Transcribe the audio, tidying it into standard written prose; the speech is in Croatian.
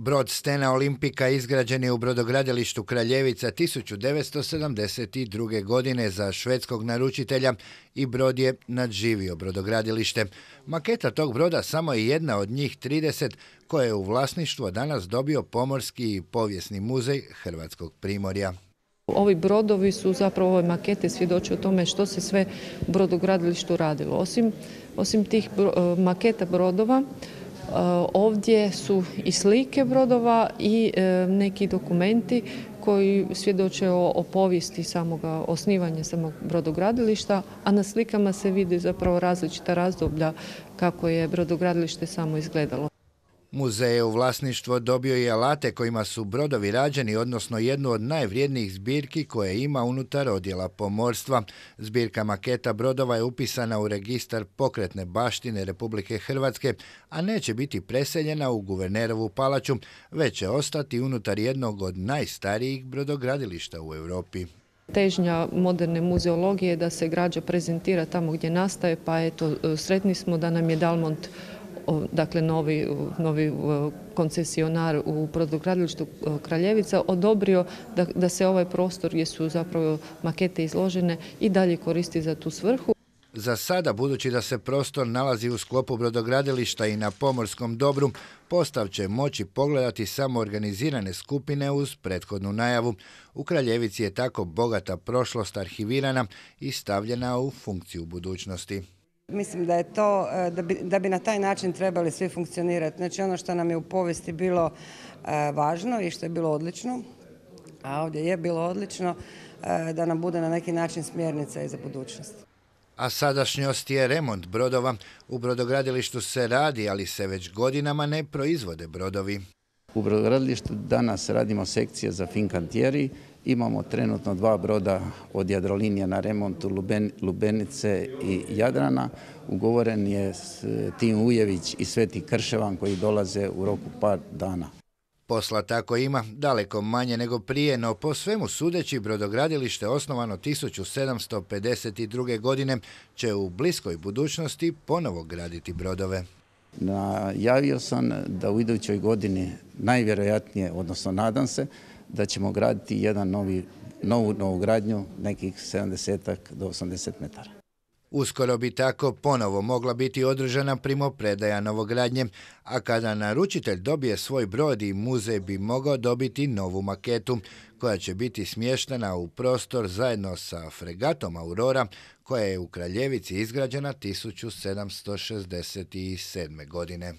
Brod Stena Olimpika izgrađen je u brodogradilištu Kraljevica 1972. godine za švedskog naručitelja i brod je nadživio brodogradilište. Maketa tog broda samo je jedna od njih 30 koje je u vlasništvo danas dobio Pomorski i povijesni muzej Hrvatskog primorja. Ovi brodovi su zapravo ove makete svjedoče o tome što se sve u brodogradilištu radilo. Osim tih maketa brodova, ovdje su i slike brodova i neki dokumenti koji svjedoče o povijesti samoga osnivanja samog brodogradilišta, a na slikama se vidi zapravo različita razdoblja kako je brodogradilište samo izgledalo. Muzej je u vlasništvo dobio i alate kojima su brodovi rađeni, odnosno jednu od najvrijednijih zbirki koje ima unutar odjela pomorstva. Zbirka maketa brodova je upisana u registar pokretne baštine Republike Hrvatske, a neće biti preseljena u Guvernerovu palaču, već će ostati unutar jednog od najstarijih brodogradilišta u Europi. Težnja moderne muzeologije je da se građa prezentira tamo gdje nastaje, pa eto, sretni smo da nam je Dalmont, dakle novi koncesionar u brodogradilištu Kraljevica, odobrio da se ovaj prostor gdje su zapravo makete izložene i dalje koristi za tu svrhu. Za sada, budući da se prostor nalazi u sklopu brodogradilišta i na pomorskom dobru, postav će moći pogledati samo organizirane skupine uz prethodnu najavu. U Kraljevici je tako bogata prošlost arhivirana i stavljena u funkciju budućnosti. Mislim da je to, da bi na taj način trebali svi funkcionirati. Znači ono što nam je u povijesti bilo važno i što je bilo odlično, a ovdje je bilo odlično, da nam bude na neki način smjernica i za budućnost. A sadašnjost je remont brodova. U brodogradilištu se radi, ali se već godinama ne proizvode brodovi. U brodogradilištu danas radimo sekcije za Fincantieri. Imamo trenutno 2 broda od Jadrolinije na remontu Lubenice i Jadrana. Ugovoren je Tim Ujević i Sveti Krševan koji dolaze u roku par dana. Posla tako ima, daleko manje nego prije, no po svemu sudeći brodogradilište osnovano 1752. godine će u bliskoj budućnosti ponovo graditi brodove. Najavio sam da u idućoj godini najvjerojatnije, odnosno nadam se, da ćemo graditi novu gradnju nekih 70 do 80 metara. Uskoro bi tako ponovo mogla biti održana primopredaja novogradnje, a kada naručitelj dobije svoj brod i muzej bi mogao dobiti novu maketu, koja će biti smještena u prostor zajedno sa fregatom Aurora, koja je u Kraljevici izgrađena 1767. godine.